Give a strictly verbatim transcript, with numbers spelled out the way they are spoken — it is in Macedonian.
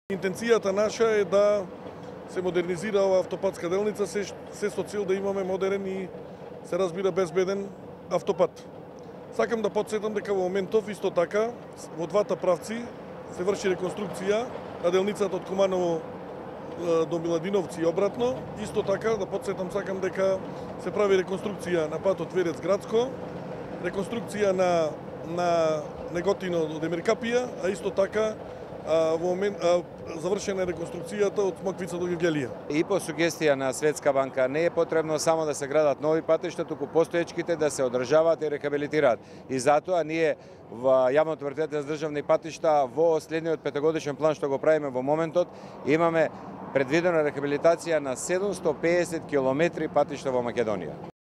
Интенцијата наша е да се модернизира оваа автопатска делница, се, се со цел да имаме модерен и се разбира безбеден автопат. Сакам да потсетам дека во моментов исто така во двата правци се врши реконструкција на делницата од Куманово до Миладиновци и обратно. Исто така да потсетам сакам дека се прави реконструкција на патот Верец Градско, реконструкција на на Неготино до Демиркапија, а исто така А, во момент а, завршена е реконструкцијата од Смоквица до Гевгелија. И по сугестија на Светска банка не е потребно само да се градат нови патишта, туку постоечките да се одржаваат и рехабилитираат. И затоа ние во јавното предпријатие за државни патишта во следниот петогодишен план што го правиме во моментот имаме предвидена рехабилитација на седумсто пеесет километри патишта во Македонија.